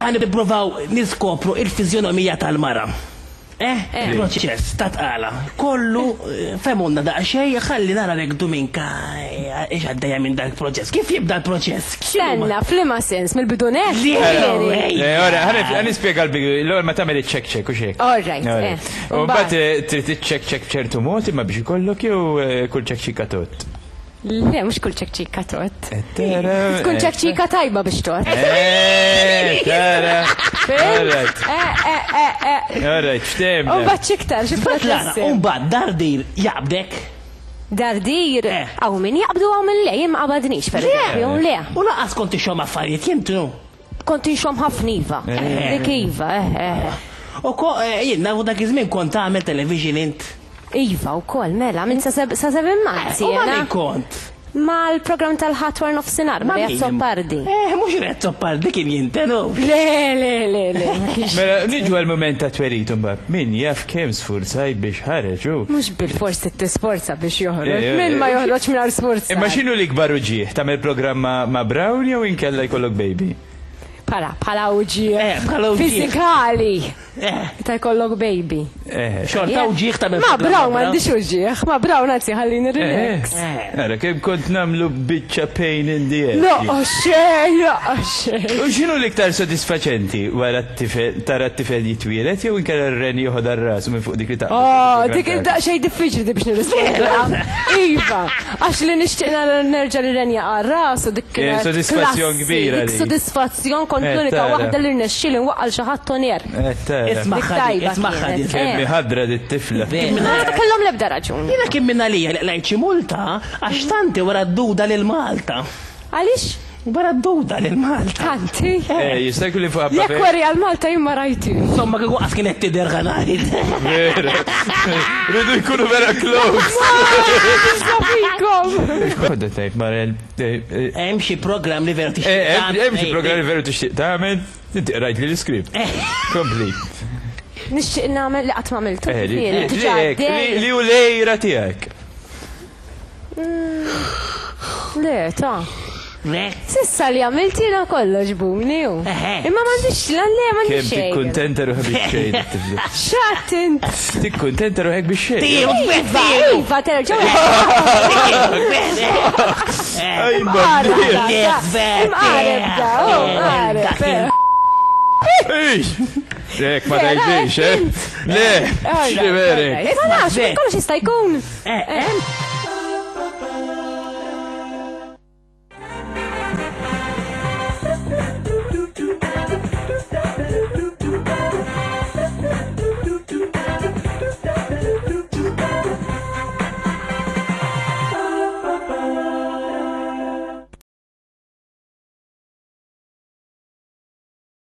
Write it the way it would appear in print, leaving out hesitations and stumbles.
Ħa nippruvaw niskopru il-fiżjonomija tal-mara. Eh, proċess ta' tqala. Kollu fehmulna daqsxejn ħalli nara lek Duminka ix għaddejja minn dak il-proċess. Kif jibda l-proċess? Stenna, f'liema sens, mill-bidu nett? Le, ora, ħa nispjega l-bidu, l-ewwel ma tagħmel iċ-check check u xejn. All right. Eh. U mbagħad trid iċ-check check b'ċertu mod imma biex ikollok jew kull check check tot. Le, mhux kull ċekċika tot. Tkun ċekċika tajba biex tot. Tara. Alright. Alright, ftemna. U mbagħad x'iktar, xi proċess. U mbagħad dardir jaqbdek. Dardir? Hawn min jaqbdu hawn min le, jien ma qabadnix pereżempju, le. U lanqas kont tixxomm affarijiet jien tnu. Kont inxomm ħafna iva. Dik iva, eh, eh. U ko, jien nafu dak iż-żmien kont tagħmel television int. Iva wkoll, mela, minn sa seven months U ma' min kont? Mal-programm tal-Ħadd wara nofsinhar, ma' Ray Azzopardi. Eh, mhux Ray Azzopardi kien jinten hu. Le, le, le, le, ma kienx. Mela, niġu għall-mument tat-twelid imbagħad. Min jaf kemm sfurzajt biex ħareġ hu. Mhux bilfors trid tisforza biex joħroġ. Min ma joħroġ mingħajr sfurzar. Imma x'inhu l-ikbar uġigħ? Tagħmel programm ma' Brown jew inkella jkollok baby? Bħala, bħala uġigħ. Eh, bħala uġigħ. Fiżikali. Eh. Ta' jkollok baby. Eh. Xorta uġigħ tagħmel Ma' Brown m'għandix uġigħ, ma' Brown anzi ħallini relax. Ara kemm kont nagħmlu biċċa pain in the ass. Loqgħod xejn, loqgħod xejn. U x'inhu l-iktar sodisfaċenti wara t-tifel, tara t-tifel jitwieled jew inkella r-ren joħodha r-rasu minn fuq dik li taqbel? Oh, dik daqsxejn diffiċli di biex nirrispondiha. Iva, għax li nixtieq nara nerġa' li ren jaqa' rasu dik kienet. Sodisfazzjon kbira. Dik sodisfazzjon kont l-unika waħda li rnexxieli nwaqqal xi ħadd on air. Isma' ħadi, isma' ħadi. Kemm ħadra dit tifla. Ma kellhom l-ebda raġun. Jiena kien minn għalija li qlajt xi multa għax tanti wara d-duda lil Malta. Għaliex? Wara d-duda lil Malta. Tanti? Eh, jista' jkun li fuq Jekk weri għal Malta jien ma rajtix. Insomma kieku qas kienet tidher ħa ngħid. Vera. Rridu jkunu vera close. Fikom. Kodda tgħid Marel. Hemm xi programm li veru tixtieq. Hemm xi programm li veru tixtieq tagħmel. Inti qrajt li l-iskript. Kompli. Nixtieq nagħmel li qatt m'għamiltu. Li hu lejra tiegħek. Le, ta. Le. Sissa li għamilt jiena kollox buni u. Imma m'għandix lan le m'għandix Kemm xejn. tikkuntenta ruħek bix-xejn tifla. X'għedt int? Tikkuntenta ruħek bix-xejn. Iva, iva, terġa' Imqareb da, oh, imqareb. Ej! Lek ma tgħidlix, eh? Le, xi verek. Ma nafx, kollox jista' jkun. Eh, eh.